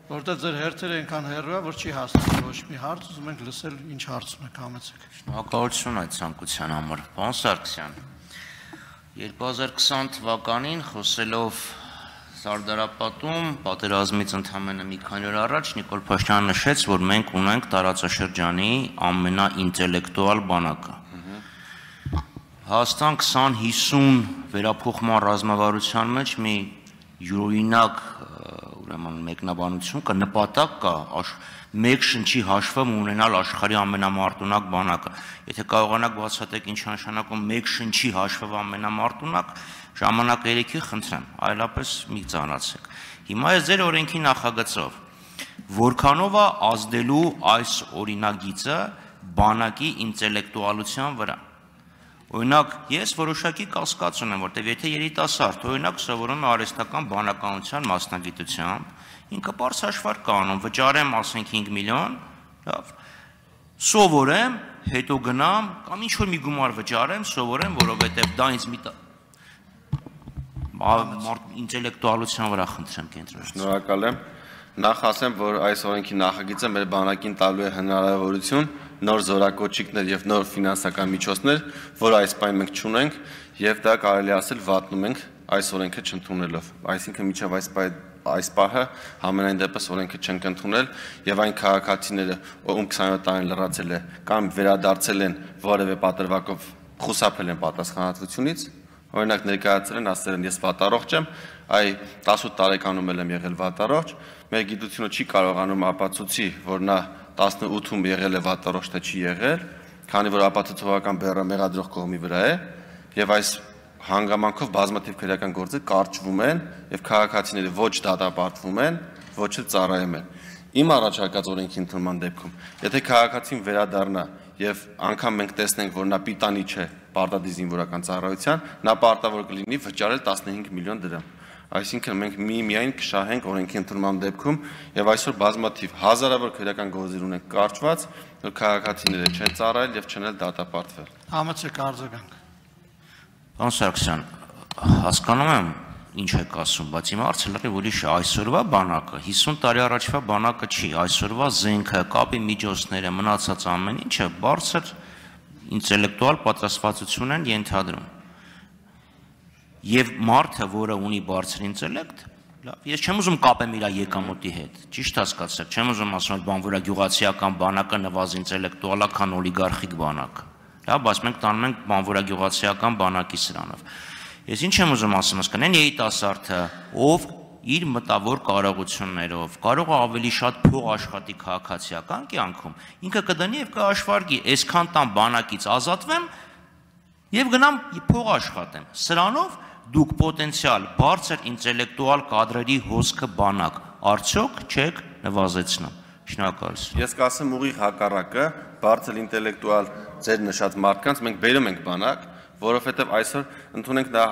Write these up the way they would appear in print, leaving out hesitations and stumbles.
Որտեղ ձեր հերթերը այնքան հեռու է, որ չի հասնում ոչ մի հարց, ուզում ենք լսել ինչ հարցում եք, համեցեք։ Շնորհակալություն այդ ցանկության համար։ Պարոն Սարգսյան, 2020 թվականին խոսելով Սարդարապատում պատերազմից ընդամենը մի քանի օր առաջ Նիկոլ Փաշինյանը նշեց, որ մենք ունենք տարածաշրջանի ամենաինտելեկտուալ բանակը։ Հաստան 20-50 վերափոխման ռազմավարության մեջ մի յուրօրինակ մեկնաբանություն կա, նպատակ կա մեկ շնչի հաշվում ունենալ աշխարհի ամենամարտունակ բանակը։ Եթե կարողանաք բացատրեք ինչ նշանակում մեկ շնչի հաշվով ամենամարտունակ, ժամանակ երեքի խնդրեմ, այլապես մի ծանրացեք։ Հիմա է ձեր օրենքի նախագծով, որքանով է ազդելու այս օրինագիծը բանակի ինտելեկտուալության վրա։ Օրինակ, ես որոշակի կասկած ունեմ, որտեղ եթե երիտասարդ օրինակ սովորում է արհեստական բանականության մասնագիտությամբ, ինքը բարձ հաշվարկ կանում, վճարեմ, ասենք 5 միլիոն, լավ, սովորեմ, հետո գնամ, կամ ինչ-որ մի գումար վճարեմ, սովորեմ, որովհետև դա ինձ մի ինտելեկտուալության վրա խնդրեմ կենտրոնացնել։ Շնորհակալ եմ։ Նախ ասեմ, որ այս օրենքի նախագիծը մեր բանակին տալու է հնարավորություն նոր զորակոչիկներ եւ նոր ֆինանսական միջոցներ, որ այս պայն մենք չունենք, եւ դա կարելի ասել վատնում ենք այս օրենքը չընդունելով։ Այսինքն միջև այս պահը համենայն դեպս օրենքը չենք ընդունել եւ այն քաղաքացիները, ում 27 տարին լրացել է կամ վերադարձել են որևէ պատրվակով խուսափել են պատասխանատվությունից, օրինակ ներկայացրել են, ասել են ես վատառողջ եմ, այ 18 տարեկանում եմ եղել վատառողջ, մեր գիտությունը չի կարողանում ապացուցի, որ նա 18-ում եղել է վատառողջ, թե չի եղել, քանի որ ապացուցողական բեռը մեղադրող կողմի վրա է, եւ այս հանգամանքով բազմաթիվ քրեական գործեր կարճվում են եւ քաղաքացիները ոչ դատապարտվում են, ոչ էլ ծառայում են։ Իմ առաջարկած օրենքի ընդունման դեպքում, եթե քաղաքացին վերադառնա եւ անգամ մենք տեսնենք, որ նա պիտանի չէ պարտադիր զինվորական ծառայության, նա պարտավոր կլինի վճարել 15 միլիոն դրամ։ Այսինքն մենք միայն կշահենք օրենքի ընդունման դեպքում եւ այսօր բազմաթիվ հազարավոր քրեական գործեր ունենք կարճված, որ քաղաքացիները չեն ծառայել եւ չեն էլ դատապարտվել։ Համեցեք արձագանք։ Պարոն Սարգսյան, հասկանում եմ ինչ եք ասում, բայց իմ հարցը լրիվ ուրիշ է, այսօրվա բանակը 50 տարի առաջվա բանակը չի, այսօրվա զենքը, կապի միջոցները, մնացած ամեն ինչը բարձր ինտելեկտուալ պատրաստվածություն են ենթադրում։ Եվ մարդը, որը ունի բարձր ինտելեկտ, ես չեմ ուզում կապեմ իր եկամուտի հետ, ճիշտ հասկացեք, չեմ ուզում ասում, որ բանվորագյուղացիական բանակը նվազ ինտելեկտուալ է, քան օլիգարխիկ բանակը։ Լավ, բայց մենք տանում ենք բանվորագյուղացիական բանակի սրանով։ Ես ինչ եմ ուզում ասում, ասկան, այն երիտասարդը, ով իր մտավոր կարողություններով կարող է ավելի շատ փող աշխատի քաղաքացիական կյանքում, ինքը կդնի եւ կհաշվարկի, այսքան տան բանակից ազատվեմ եւ գնամ փող աշխատեմ։ Սրանով դուք պոտենցիալ բարձր ինտելեկտուալ կադրերի հոսքը բանակ արդյոք չեք նվազեցնում։ Շնորհակալություն։ Ես կասեմ ուղիղ հակառակը, բարձր ինտելեկտուալ ձեր նշած մարդկանց մենք բերում ենք բանակ, որովհետև այսօր ընդունենք նա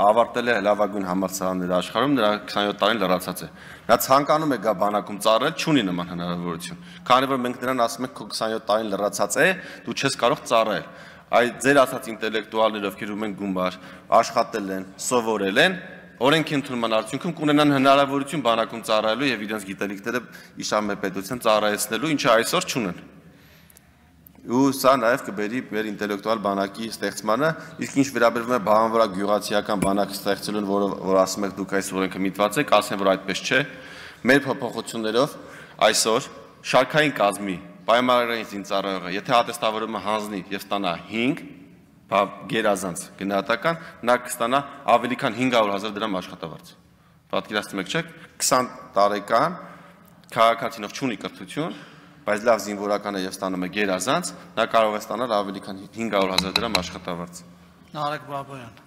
ավարտել է լավագույն համալսարանները աշխարհում, նրա 27 տարին լրացած է։ Նա ցանկանում է գա բանակում ծառայել, չունի նման հնարավորություն։ Քանի որ մենք նրան ասում ենք քո 27 տարին լրացած է, դու չես կարող ծառայել։ Այդ ձեր ասած ինտելեկտուալները, ովքեր ունեն գումար, աշխատել են, սովորել են, օրենքի ընդունման արդյունքում կունենան հնարավորություն բանակում ծառայելու եւ իրենց գիտելիքները իշամե պետության ծառայեցնելու, ինչը այսօր չունեն։ Ու սա նաև կբերի մեր ինտելեկտուալ բանակի ստեղծմանը, իսկ ինչ վերաբերվում է բանվորագյուղացիական բանակ ստեղծելուն, որ ասում եք դուք այս օրենքը միտված եք, ասեմ, որ այդպես չէ։ Մեր փոփոխություններով այսօր շարքային կազմի պայմանագրային զինծառայողը, եթե ատեստավորումը հանձնի եւ ստանա 5 գերազանց գնահատական, նա կստանա ավելի քան 500,000 դրամ աշխատավարձ։ Պատկերացնում եք, չէ՞, 20 տարեկան քաղաքացինով չունի կրթություն, բայց լավ զինվորական է եւ ստանում է գերազանց, նա կարող է ստանալ ավելի քան 500,000 դրամ աշխատավարձ։ Նարեկ Բաբայան։